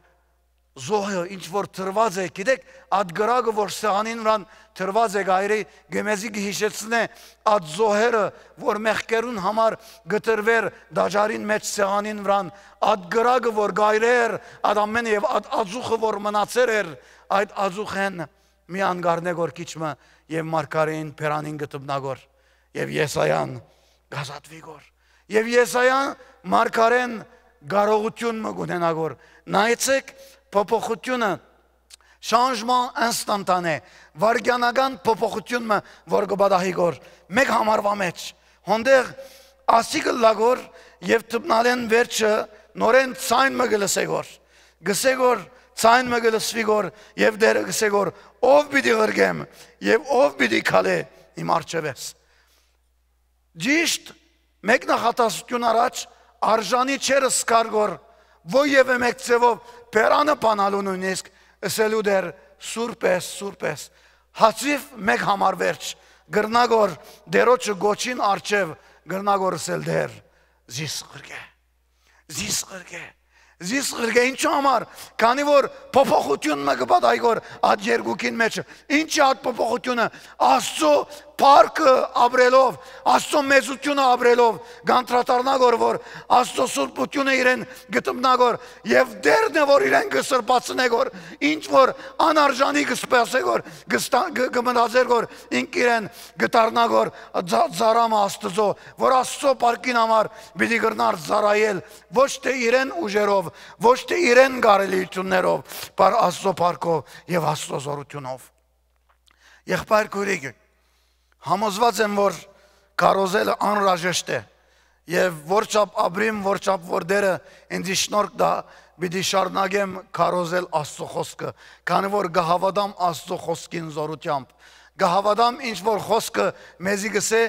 զոհը ինչ որ տրուած է, գիտեք, այդ կրակը որ սեղանին վրան տրուած է գայրի, գեմեզի կը յիշեցնէ այդ զոհերը, որ մեղքերուն համար կը տրուէր տաճարին մէջ սեղանին վրան, այդ կրակը որ գայրեր, այդ ամենը եւ այդ ածուխը որ մնացեր էր, այդ ածուխեն միան կ'առնէ գոր քիչ մը եւ մարգարէին բերանին կը դպնայ գոր, եւ Եսայան կ'ազատուի գոր, եւ Եսայան մարգարէն կարողութիւն մը կ'ունենայ գոր։ Նայեցէք փոփոխութիւնը, changement instantané, վայրկենական փոփոխութիւն մը որ կը պատահի գոր, մէկ համարուայ մէջ, հոնդեղ ասի կ'ըլլայ գոր եւ դպնալէն վերջը նորէն ձայն մը կը լսէ գոր, կ'ըսէ գոր, ձայն մը կը լսուի գոր եւ Տէրը կ'ըսէ գոր, ով պիտի ղրկեմ եւ ով պիտի քալէ իմ առջեւէս։ Ճիշտ մէկ նախատասութիւն առաջ արժանի չէր զգար գոր, որեւէ մէկ ձեւով բերանը բանալու նոյնիսկ, ըսելու Տէր, սուրբ ես, սուրբ ես, հազիւ մէկ համար վերջ, կրնայ գոր Տէրոջը գոչին առջեւ, կրնայ գոր ըսել Տէր, զիս ղրկէ, զիս ղրկէ, զիս ղրկէ, ինչու համար, քանի որ փոփոխութիւն մը կը պատահի գոր այդ երկուքին մէջը, ինչ է այդ փոփոխութիւնը, Աստուծոյ փառքը ապրելով, Աստուծոյ մեծութիւնը ապրելով, կանդրադառնայ գոր որ Աստուծոյ սուրբութիւնը իրեն կը դպնայ գոր, եւ Տէրն է որ իրեն կը սրբացնէ գոր, ինչ որ անարժանի կը սպասէ գոր, կը ստա-, կը, կը մտածէր գոր, ինք իրեն կը դառնայ գոր ձա-, ծառայ մը Աստուծոյ, որ Աստուծոյ փառքին համար պիտի կրնար ծառայել, ոչ թէ իրեն ուժերով, ոչ թէ իրեն կարելիութիւններով, բար Աստուծոյ փառքով եւ Աստուծոյ զօրութիւնով։ Եղբայր քոյրիկ, համոզուած եմ որ քարոզելը անհրաժեշտ է, եւ որչափ ապրիմ, որչափ որ Տէրը ինձի շնորհք տայ, պիտի շարունակեմ քարոզել Աստուծոյ խօսքը, քանի որ կը հաւատամ Աստուծոյ խօսքին զօրութեամբ, կը հաւատամ ինչ որ խօսքը մեզի կ'ըսէ,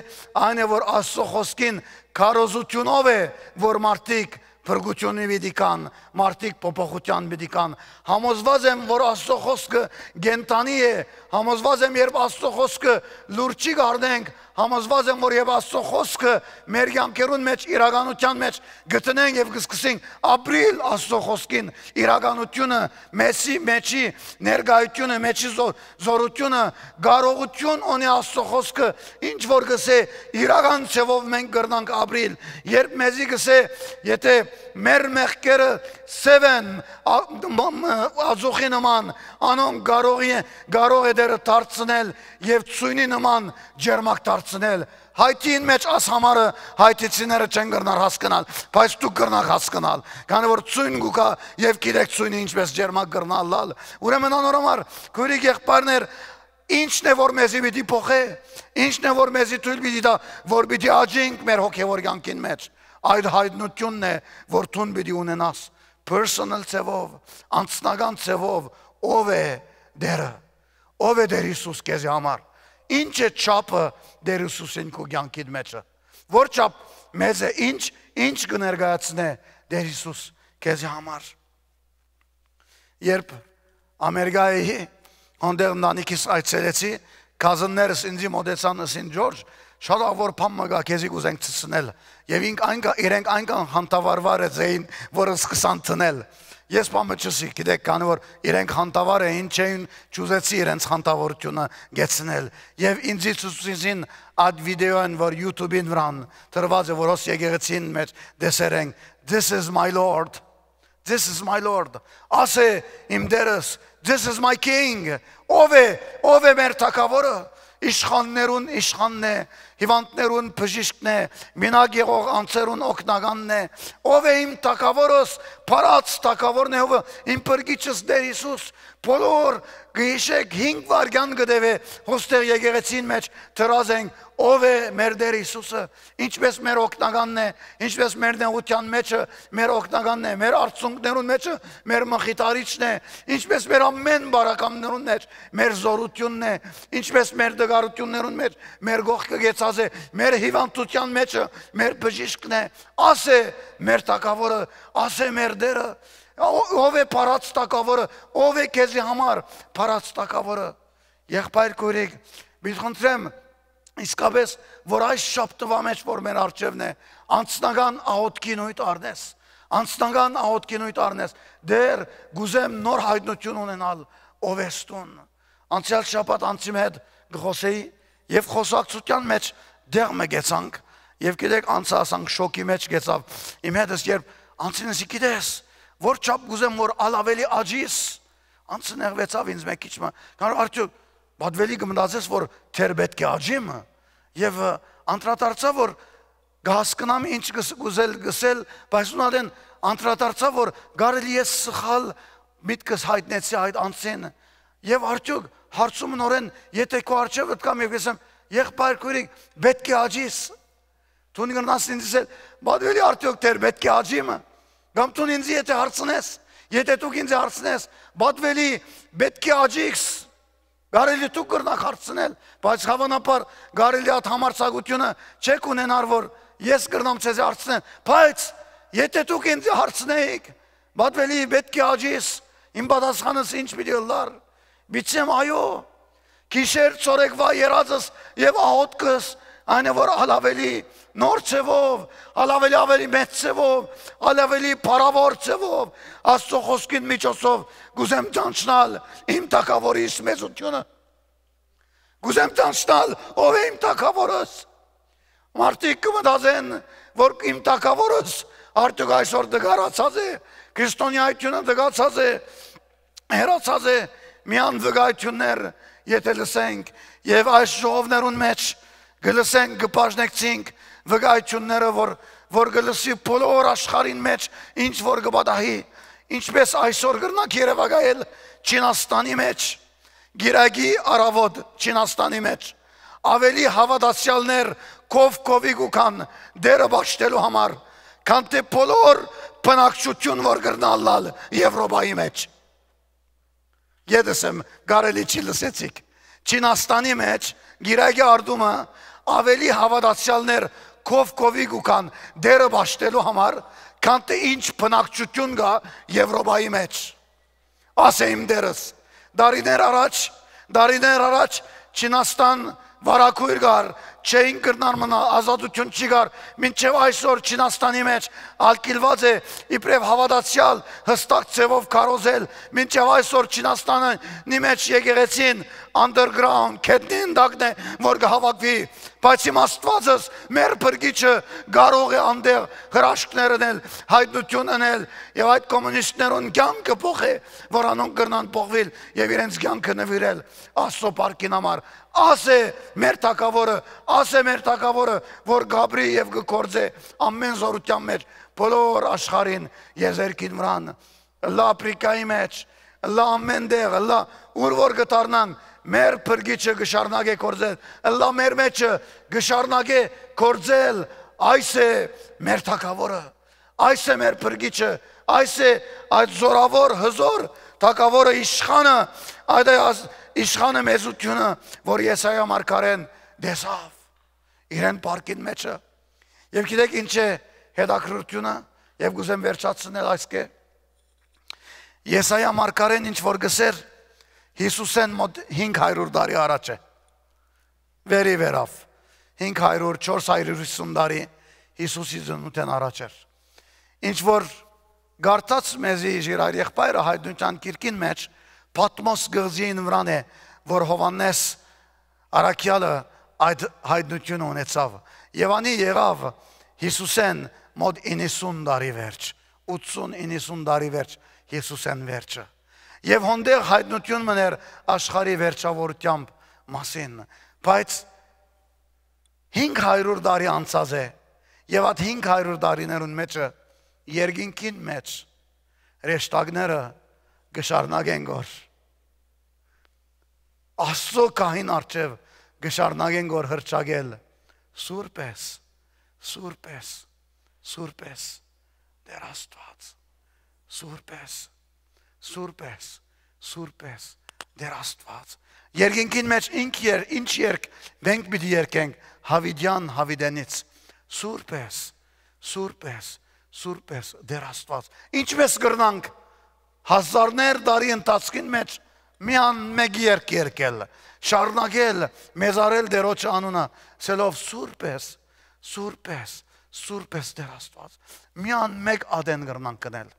այն է որ Աստուծոյ խօսքին քարոզութիւնով է որ մարդիկ փրկութիւնի պիտի գան, մարդիկ փոփոխութեան պիտի գան։ Համոզուած եմ որ Աստուծոյ խօսքը կենդանի է, համոզուած եմ երբ Աստուծոյ խօսքը լուրջ կ'առնենք, համոզուած եմ որ երբ Աստուծոյ խօսքը մեր կեանքերուն մէջ, իրականութեան մէջ կը դնենք եւ կը սկսենք ապրիլ Աստուծոյ խօսքին իրականութիւնը, մեզի, մեջի ներկայութիւնը, մեջի զօ-, զօրութիւնը, կարողութիւն ունի Աստուծոյ խօսքը, ինչ որ կ'ըսէ, իրական ձեւով մենք կրնանք ապրիլ։ Երբ մեզի կ'ըսէ, եթե մեր մեղքերը սեւ են, ա-, մ-, մ-, ածուխի նման, անոնք կարող է, կարող է Տէրը դարձնել եւ ծոյնի նման ջերմակ դարձնել։ Հայտին մէջ աս համարը հայտիցիները չեն կրնար հասկնալ, բայց դուք կրնաք հասկնալ, քանի որ ծոյն կու գայ եւ գիտեք ծոյնը ինչպես ջերմակ կրնայ ըլլալ։ Ուրեմն անոր համար, քոյրիկ եղբայրներ, ի՞նչն է որ մեզի պիտի փոխէ, ի՞նչն է որ մեզի թոյլ պիտի տայ, որ պիտի աճենք մեր հոգեվոր կեանքին մէջ։ Այդ հայտնությունն է որ դուն պիտի ունենաս personal ձևով, անձնական ձևով, ով է Տէրը, ով է Տէր Յիսուս քեզի համար, ինչ է չափը Տէր Յիսուսին քու կեանքիդ մէջը, որ չափ մեծ է, ինչ, ինչ կը ներկայացնէ Տէր Յիսուս քեզի համար։ Երբ Ամերիկայի հանդեղ ընտանիքիս այցելեցի, cousin-ներս ինձի մոտեցան, ըսին, «Ջորջ, շատ աղ որ բան մը կայ, քեզի կ'ուզենք ցցնել»։ Եւ ինք այնքան, իրենք այնքան խանդավառ վարեցին, որ սկսան ցցնել։ Ես բան մը չըսի, գիտեք, քանի որ իրենք խանդավառ էին, չէին, չուզեցի իրենց խանդավառութիւնը գեցնել։ Եւ ինձի ցուցեցին այդ վիդեոյն, որ YouTube-ին վրան դրուած է, որ հոս եկեղեցին մէջ տեսեր ենք. "This is my Lord. This is my Lord." Ասե իմ Տերս, "This is my King." Ո՞վ է, ո՞վ է մեր թագաւորը։ Իշխաններուն իշխանն է, հիվանդներուն բժիշկն է, մինակ եղող անձերուն օգնականն է։ Ո՞վ է իմ թագաւորս, փառած թագաւորն է, ով է իմ փրկիչս Տեր Յիսուս։ Բոլոր կը յիշեք, հինգ վայրկեան կը տեւէ, հոստեղ եկեղեցին մէջ դրած ենք, ո՞վ է մեր Տեր Յիսուսը, ինչպես մեր օգնականն է, ինչպես մեր նեղութեան մեջը մեր օգնականն է, մեր արցունքներուն մեջը մեր մխիթարիչն է, ինչպես մեր ամեն բարակամներուն մեջ մեր զօրութիւնն է, ինչպես մեր դգարութիւններուն մեջ մեր կողքը գեցած է, մեր հիվանդութեան մեջը մեր բժիշկն է, ասե մեր թագաւորը, ասե մեր Տերը, ո-, ով է փառած թագաւորը, ով է քեզի համար փառած թագաւորը։ Եղբայր քոյրիկ, մինչ խնդրեմ, իսկապես, որ այս շաբթուա մեջ, որ մեր առջեւն է, անձնական աղօթքի նոյթ առնես, անձնական աղօթքի նոյթ առնես, դեռ կուզեմ նոր հայտնություն ունենալ, ով ես դուն։ Անցեալ շաբաթ անցի հետ կը խոսեի, եւ խոսակցութեան մեջ դեղ մը գեցանք, եւ գիտեք, անցը ասանք շոկի մեջ գեցավ, իմ հետս երբ անցին ասի, "Գիտես, որ չափ կուզեմ, որ ալ ավելի աճիս", անցը նեղվեցավ ինձ մեկ քիչ մը, քան արդյոք պատվելի կը մտածես, որ թեր պէտք է աճի մը, եւ ը, անդրադարձա, որ կը հասկնամ ինչ կս-, կ'ուզել գսել, բայց ուն ատեն անդրադարձա, որ կարելի է սխալ միտքս հայտնեցի այդ անցին, եւ արդյոք հարցումը նորեն, եթե քո առջեւ ըտկամ եւ կ'ըսեմ, "Եղբայր քոյրիկ, պէտք է աճիս", դուն կրնաս ինձ ասել, "Պատվելի, արդյոք թեր պէտք է աճի մը", կամ դուն ինձ եթե հարցնես, եթե դուք ինձ հարցնես, "Պատվելի, պէտք է աճի"։ Կարելի դուք կրնաք հարցնել, բայց հավանաբար կարելի այդ համարձակությունը չեք ունենար, որ ես կրնամ ձեզի հարցնել, բայց եթե դուք ինձ հարցնեիք, "Պատվելի, պէտք է աճիս", իմ պատասխանս ինչ պիտի ըլլար, պիտի ասեմ, "Այո", գիշեր, ցորեկվա երազս եւ աղօթքս այն է, որ ալ ավելի նոր ձևով, ալ ավելի, ավելի մեծ ձևով, ալ ավելի փառաւոր ձևով Աստծո խոսքին միջոցով կ'ուզեմ ճանչնալ իմ թագաւորիս մեծությունը։ Կ'ուզեմ ճանչնալ ով է իմ թագաւորս։ Մարդիկ կը մտածեն, որ իմ թագաւորս արդյոք այսօր դգարացած է, քրիստոնեայությունը դգացած է, հեռացած է, միան վկայություններ եթե լսենք, եւ այս ժողովներուն մեջ կը լսենք, կը բաժնեկցենք վկայությունները, որ, որ կը լսի բոլոր աշխարհին մեջ ինչ որ կը պատահի, ինչպես այսօր կրնանք երեւակայել Չինաստանի մեջ, գիրագի առավոտ Չինաստանի մեջ, ավելի հաւատացեալներ քով քովի կու գան Տերը պաշտելու համար, քան թէ բոլոր բնակչություն որ կրնա ըլլալ Եվրոպայի մեջ։ Ետս եմ, կարելի չի լսեցիք։ Չինաստանի մեջ գիրագի արտումը ավելի հաւատացեալներ քով քովի կու գան Տերը պաշտելու համար, քան թէ ինչ բնակչություն կայ Եվրոպայի մեջ։ Ասե իմ Տերս, դարիներ առաջ, դարիներ առաջ Չինաստան վարագույր կար, չէին կրնար մնալ, ազատություն չի կար, մինչեւ այսօր Չինաստանի մեջ ալկիլված է իբրեւ հաւատացեալ հստակ ձևով քարոզել, մինչեւ այսօր Չինաստանի մեջ եկեղեցին underground, գետնի ընդակն է, որ կհավաքվի, բայց իմ Աստվածս, մեր փրկիչը կարող է անդեղ հրաշքներ ընել, հայտնություն ընել, եւ այդ կոմունիստներուն կյանքը փոխ է, որ անոնք կրնան փոխվել եւ իրենց կյանքը նվիրել Աստծո փառքին համար։ Ասե մեր թագավորը, ասե մեր թագավորը, որ գաբրի եւ կը գործե ամեն զորութեան մեջ, բոլոր աշխարհին, եզերքին վրան, ըլլայ Ափրիկայի մեջ, ըլլայ ամեն տեղ, ըլլայ ուր որ կը դառնանք, մեր փրկիչը կը շարունակե գործել, ըլլայ մեր մեջը կը շարունակե գործել, այս է մեր թագավորը, այս է մեր փրկիչը, այս է այդ զորավոր, հզոր թագավորը, իշխանը, այդ է աս-, իշխանը մեծությունը, որ Եսայա մարգարեն տեսավ իրեն փառքին մեջը։ Եւ գիտեք ինչ է հետաքրքրությունը, եւ կուզեմ վերջացնել այսքէ։ Եսայա մարգարեն ինչ որ գսեր Յիսուսեն մոտ հինգ հարյուր տարի առաջ է, վերի վերավ, հինգ հարյուր, չորս հարյուր հիսուն տարի Յիսուսի ծնունդեն առաջ էր։ Ինչ որ Կարդաց մեզի Ժիրայր եղբայրը Յայտնութեան գիրքին մէջ, Պատմոս կղզիին վրան է, որ Յովհաննէս Առաքեալը այդ յայտնութիւնը ունեցաւ։ Եւ անի եղաւ Յիսուսէն մօտ իննսուն տարի վերջ, ութսուն իննսուն տարի վերջ, Յիսուսէն վերջը։ Եւ հոնդեղ յայտնութիւն մըն էր աշխարհի վերջաւորութեան մասին, բայց հինգ հարիւր տարի անցած է, եւ այդ հինգ հարիւր տարիներուն մէջը երկինքին մէջ հրեշտակները կը շարունակեն գոր Աստծո գահին առջեւ կը շարունակեն գոր հռչակել. «Սուրբ ես, սուրբ ես, սուրբ ես, Տէր Աստուած, սուրբ ես, սուրբ ես, սուրբ ես, Տէր Աստուած»։ Երկինքին մէջ ինչ եր-, ինչ երգ մենք պիտի երգենք Յաւիտեան Յաւիտենից. «Սուրբ ես, սուրբ ես, սուրբ ես, Տէր Աստուած»։ Ինչպէս կրնանք հազարներ տարի ընթացքին մէջ միան մէկ երգ երգել, շարունակել մեզարել Տէրոջը անունը, ասելով. «Սուրբ ես, սուրբ ես, սուրբ ես, Տէր Աստուած»։ Միան մէկ ատեն կրնանք գնել,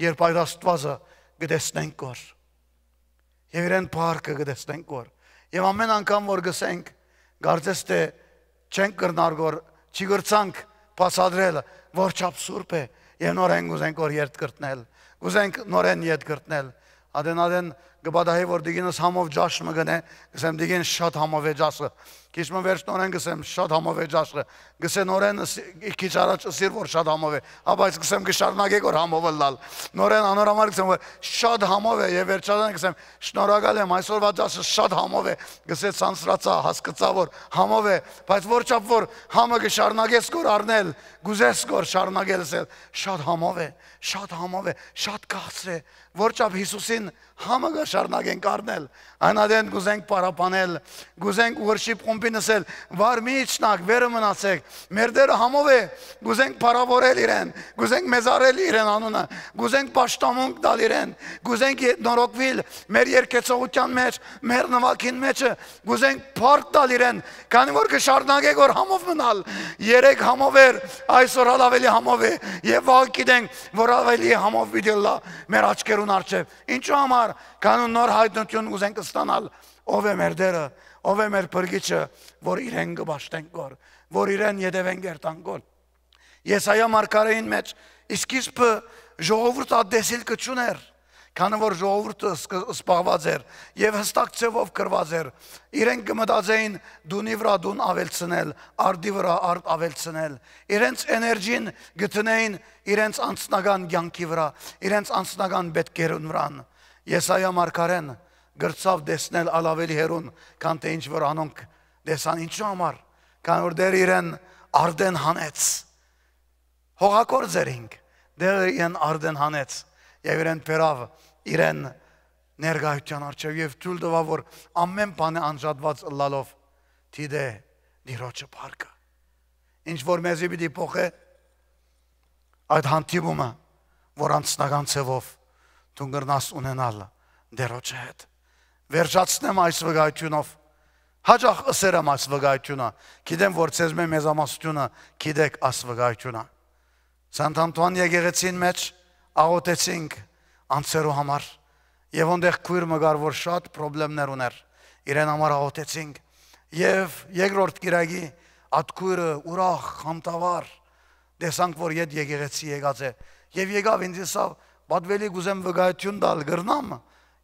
երբ այդ Աստուածը կը տեսնենք գոր, եւ իրեն փառքը կը տեսնենք գոր, եւ ամէն անգամ որ գսենք, կարծես թէ չենք կրնար գոր, չի կրցանք բացատրել, որ չափ սուրբ է, եւ նորէն կուզենք որ երթ կրտնել, կուզենք նորէն ետ կրտնել։ Ադեն ադեն կը պատահի որ դիգինս համով ճաշ մը գնե, կսեմ. «Դիգին, շատ համով է ճաշը»։ Քիչ մը վերջ նորէն կսեմ. «Շատ համով է ճաշը»։ Կսե նորէն, ըս-, քիչ առաջ ըսիր որ շատ համով է, հա, բայց կսեմ կը շարունակե որ համով ըլլալ։ Նորէն անոր համար կսեմ որ շատ համով է, եւ վերջաբան կսեմ. «Շնորհակալ եմ, այսօրվա ճաշը շատ համով է»։ Կսե. «Ցանցրացայ, հասկցայ որ համով է»։ Բայց որ չափ որ համը կը շարունակես գոր առնել, կուզես գոր շարունակել ասել. «Շատ համով է, շատ համով է, շատ քաղցր է»։ Որ չափ Յիսուսին համը կը շարունակենք առնել, այն ատեն կուզենք փառաբանել, կուզենք worship խումբին ասել. «Վար մի իջնաք, վերը մնացեք, մեր Տէրը համով է»։ Կուզենք փառաւորել իրեն, կուզենք մեծարել իրեն անունը, կուզենք պաշտամունք տալ իրեն, կուզենք ե-, նորոգուիլ մեր երգեցողութեան մեջ, մեր նուագին մէջը, կուզենք փառք տալ իրեն, քանի որ կը շարունակե որ համով մնալ։ Երեկ համով էր, այսօր ալ աւելի համով է, եւ վաղը գիտենք որ աւելի համով պիտի ըլլայ մեր աչքերուն առջեւ։ Ինչու համար, քանի նոր յայտնութիւն կուզենք ստանալ, ով է մեր Տէրը, ով է մեր Փրկիչը, որ իրեն կը պաշտենք գոր, որ իրեն ետեւենք երթանք գոր։ Եսայա մարգարէին մէջ, իսկ իսկ բ-, ժողովուրդը ատտեսիլ կը չունէր, քանի որ ժողովուրդը սկը-, սպաղուած էր եւ հստակ ձեւով գրուած էր։ Իրենք կը մտածեին դունի վրայ դուն աւելցնել, արդի վրայ արդ աւելցնել։ Իրենց էներգին գտնեին իրենց անձնական կյանքի վրայ, իրենց անձնական պէտքերուն վրան։ Եսայա մարգարէն կրցաւ տեսնել ալ աւելի հեռուն, քան թէ ինչ որ անոնք տեսան։ Ինչու համար, քան որ Տէրը իրեն արդեն հանեց։ Հողագործ էր ինք, Տէրը իրեն արդեն հանեց եւ իրեն բերաւ իրեն ներկայութեան առջեւ եւ թոյլ տուաւ որ ամէն բանը անջատուած ըլլալով դիտէ Տիրոջը փառքը։ Ինչ որ մեզի պիտի փոխէ, այդ հանդիպումը, որ անձնական ձևով դուն կրնաս ունենալ Տէրոջը հետ։ Վերջացնեմ այս վկայութիւնով։ Յաճախ ըսեր եմ այս վկայութիւնը, գիտեմ որ ձեզմէ մեծամասնութիւնը գիտեք այս վկայութիւնը։ Սանտ Անտուան եկեղեցին մէջ աղօթեցինք անձերու համար, եւ ոնտեղ քոյր մը կար որ շատ պրոբլեմներ ունէր, իրեն համար աղօթեցինք, եւ երկրորդ կիրակի այդ քոյրը ուրախ, խանդավառ, տեսանք որ յետ եկեղեցի եկած է, եւ եկաւ ինձ ըսաւ. «Պատուելի, կուզեմ վկայութիւն տալ, կրնամ»։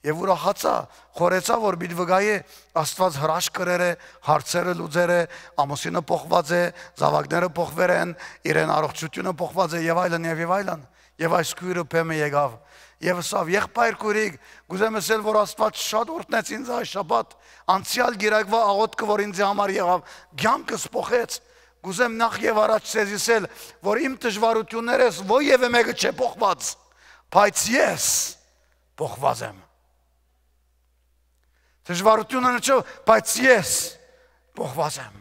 Եւ ուրախացայ, խորհեցայ որ պիտի վկայէ. Աստուած հրաշք կրեր է, հարցերը լուծեր է, ամուսինը փոխված է, զաւակները փոխուեր են, իրեն առողջութիւնը փոխված է, եւ այլն, եւ, եւ այլն։ Եւ այս քոյրը բեմը եկաւ եւ ըսաւ. «Եղբայր քուրիկ, կուզեմ ըսել որ Աստուած շատ օրհնեց ինձ այս շաբաթ, անցեալ կիրակվա աղօթքը որ ինձ համար եղաւ, կյանքս փոխեց։ Կուզեմ նախ եւ առաջ ձեզի ըսել որ իմ դժվարութիւններս ոեւէ մէկը չէ փոխված, բայց ես փոխված եմ։ Դժվարութիւնը չէ, բայց ես փոխված եմ»։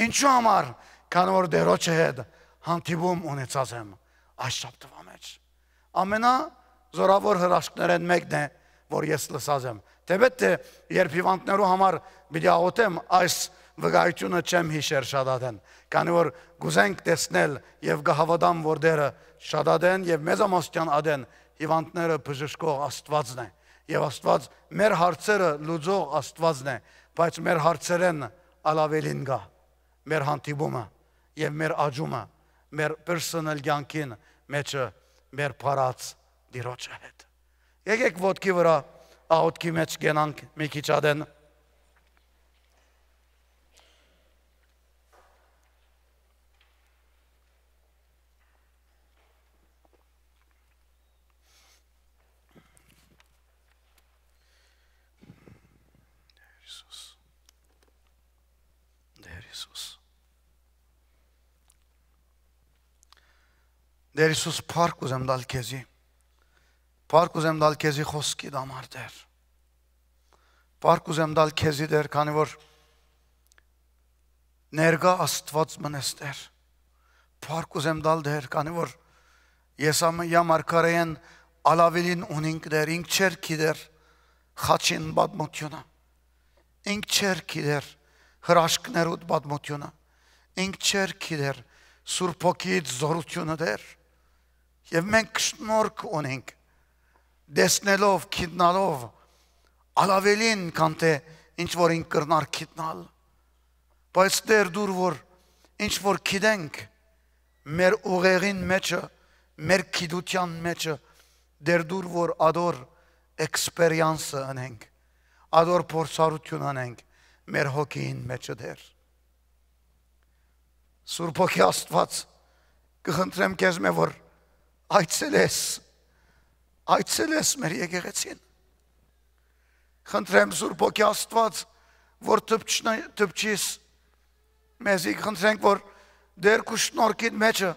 Ինչու համար, քանի որ Տէրոջը հետ հանդիպում ունեցած եմ այս շաբթուա մէջ։ Ամենազորաւոր հրաշքներէն մէկն է որ ես լսած եմ։ Թէպէտ թէ երբ հիվանդներու համար պիտի աղօթեմ այս վկայութիւնը չեմ յիշեր շատ ատեն, քանի որ կ'ուզենք տեսնել եւ կը հաւատամ, որ Տէրը շատ ատեն եւ մեծամասնեան ատեն հիւանդները բժշկող Աստուածն է, եւ Աստուած մեր հարցերը լուծող Աստուածն է, բայց մեր հարցերէն ալ աւելին կայ մեր հանդիպումը եւ մեր աճումը, մեր պերսոնալ կեանքին մէջը մեր փառած Տիրոջը հետ։ Եկեք ոտքի վրայ, աղօթքի մէջ կենանք մի քիչ ատեն։ Տեր Յիսուս։ Տեր Յիսուս։ Տեր Յիսուս, փառք ուզեմ տալ քեզի։ Փառք ուզեմ տալ քեզի խօսքիդ համար, Տեր։ Փառք ուզեմ տալ քեզի, Տեր, քանի որ ներկայ Աստուած մնես, Տեր։ Փառք ուզեմ տալ, Տեր, քանի որ Եսայիա մարգարէին ալ աւելին ունինք, Տեր, ինք չէր գիտեր խաչին պատմութիւնը, ինք չէր գիտեր հրաշքներուդ պատմութիւնը, ինք չէր գիտեր Սուրբ Հոգիից զօրութիւնը, Տեր։ Եւ մենք շնորհք ունենք, տեսնելով, գիտնալով, ալ աւելին, քան թէ ինչ որ ինք կրնար գիտնալ։ Բայց Տեր, դուր որ ինչ որ գիտենք, մեր ուղեղին մէջը, մեր գիտութեան մէջը, Տեր, դուր որ ադոր էքսպերիանսը ընենք, ադոր փորձառութիւն ընենք մեր հոգիին մէջը, Տեր։ Սուրբ Հոգի Աստուած, կը խնդրեմ քեզմէ, որ այցելես, այցելես մեր եկեղեցին։ Խնդրեմ, Սուրբ Հոգի Աստուած, որ դպչնա-, դպչիս մեզի, խնդրենք, որ Տեր քու շնորհքիդ մէջը,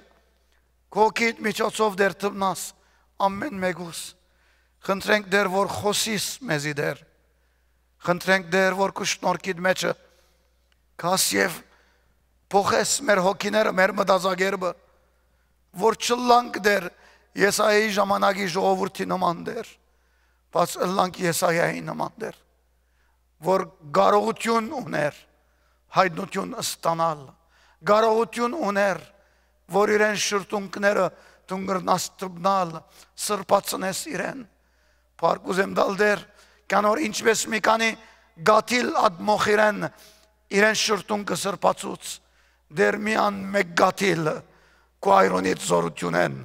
քու հոգիդ միջոցով, Տեր, դպնաս ամէն մէկուս։ Խնդրենք, Տեր, որ խօսիս մեզի, Տեր։ Խնդրենք, Տեր, որ քու շնորհքիդ մէջը գաս եւ փոխես մեր հոգիները, մեր մտածակերպը, որ չըլլանք, Տեր, Եսայայի ժամանակի ժողովուրդի նման, Տեր, բայց ըլլանք Եսայայի նման, Տեր, որ կարողութիւն ունէր հայտնութիւն ստանալ, կարողութիւն ունէր, որ իրեն շրթունքները դուն կրնաս դպնալ, սրբացնես իրեն։ Փառք ուզեմ տալ, Տեր, քան որ ինչպես մի քանի կաթիլ ատմոխ իրեն, իրեն շրթունքը սրբացուց, Տեր, միան մէկ կաթիլ քու այրոնիդ զօրութիւնէն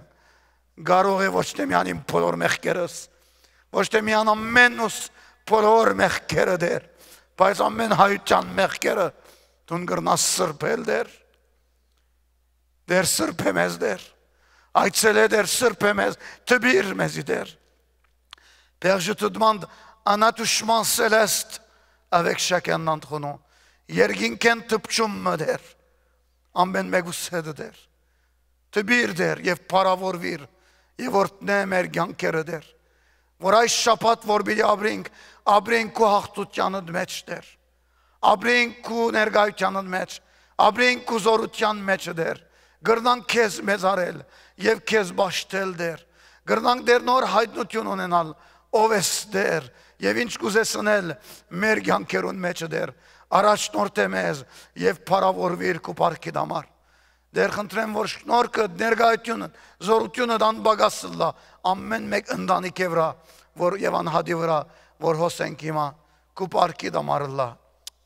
կարող է ոչ թէ միան իմ բոլոր մեղքերս, ոչ թէ միան ամէն ուս բոլոր մեղքերը, Տեր, բայց ամէն հայութեան մեղքերը դուն կրնաս սրբել, Տեր։ Տեր, սրբէ մեզ, Տեր։ Այցելէ, Տեր, սրբէ մեզ, տպիր մեզի, Տեր։ Perçu të dmand, a na të shman celest, avec chacun d'entre nous. Երկինքէն դպչում մը, Տեր, ամէն մէկուս հետը, Տեր։ Տպիր, Տեր, եւ փառաւորուիր, եւ օրհնէ մեր կեանքերը, Տեր, որ այս շաբաթ որ պիտի ապրինք, ապրինք քու յաղթութեանդ մէջ, Տեր, ապրինք քու ներկայութեանդ մէջ, ապրինք քու զօրութեան մէջ, Տեր, կրնանք քեզ մեծարել եւ քեզ պաշտել, Տեր, կրնանք, Տեր, նոր հայտնութիւն ունենալ, ով ես, Տեր, եւ ինչ կ'ուզես ընել մեր կեանքերուն մէջ, Տեր, առաջնորդէ մեզ եւ փառաւորուիր քու փառքիդ համար։ Տեր, խնդրեմ, որ շնորհքը, ներկայությունը, զօրությունը անպակաս ըլլայ ամէն մէկ ընտանիքի վրայ, որ եւ անհատի վրայ, որ հոսենք հիմա, քու փառքիդ համար ըլլայ։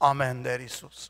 Ամէն, Տեր Յիսուս։